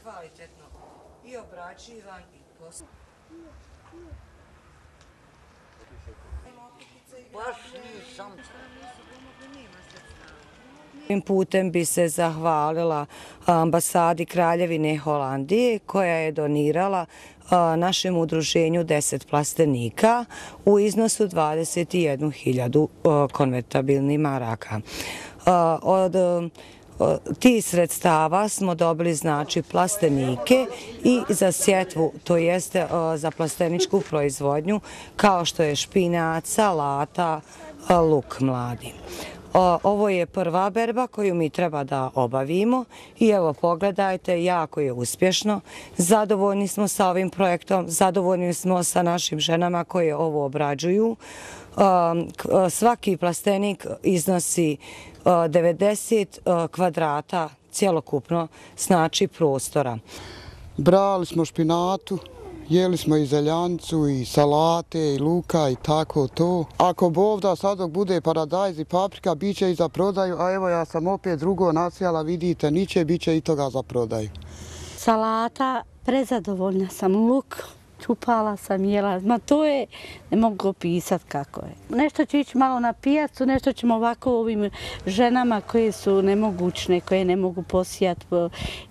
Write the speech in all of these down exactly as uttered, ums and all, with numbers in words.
kvalitetno i obrađivan i posao. Baš nisam. Ovim putem bi se zahvalila ambasadi Kraljevine Holandije koja je donirala našem udruženju deset plastenika u iznosu dvadeset jednu hiljadu konvertabilnih maraka. Od tih sredstava smo dobili znači plastenike i za sjetvu, to jeste za plasteničku proizvodnju kao što je špinac, salata, luk mladi. Ovo je prva berba koju mi treba da obavimo i evo pogledajte, jako je uspješno. Zadovoljni smo sa ovim projektom, zadovoljni smo sa našim ženama koje ovo obrađuju. Svaki plastenik iznosi devedeset kvadrata cjelokupno znači prostora. Brali smo špinatu, jeli smo i zeljanicu, i salate, i luka, i tako to. Ako Bog da sad dok bude paradajz i paprika, bit će i za prodaju, a evo ja sam opet drugo nasijala, vidite, niće, bit će i toga za prodaju. Salata, prezadovoljna sam, luk, čupala sam, jela, ma to je, ne mogu opisati kako je. Nešto će ići malo na pijacu, nešto ćemo ovako ovim ženama koje su nemogućne, koje ne mogu posijati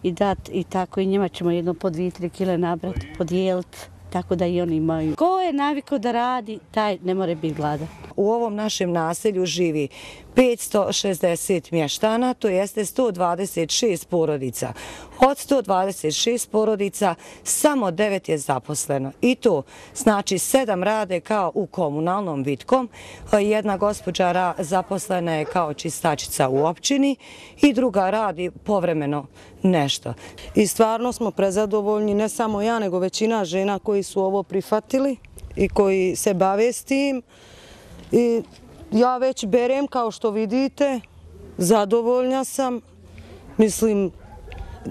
i dati i tako i njima ćemo jedno po dvije, tri kile nabrati, podijeliti, tako da i oni imaju. Ko je navikao da radi, taj ne more biti gladan. U ovom našem naselju živi petsto šezdeset mještana, to jeste sto dvadeset šest porodica. Od sto dvadeset šest porodica samo devet je zaposleno. I to znači sedam rade kao u komunalnom Vitkom, jedna gospođa zaposlena je kao čistačica u općini i druga radi povremeno nešto. I stvarno smo prezadovoljni, ne samo ja, nego većina žena koji su ovo prihvatili i koji se bave s tim. I ja već berem, kao što vidite, zadovoljna sam. Mislim,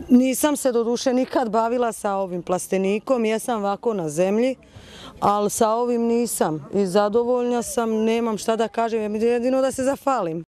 nisam se do duše nikad bavila sa ovim plastenikom, jesam ovako na zemlji, ali sa ovim nisam. I zadovoljna sam, nemam šta da kažem, jedino da se zahvalim.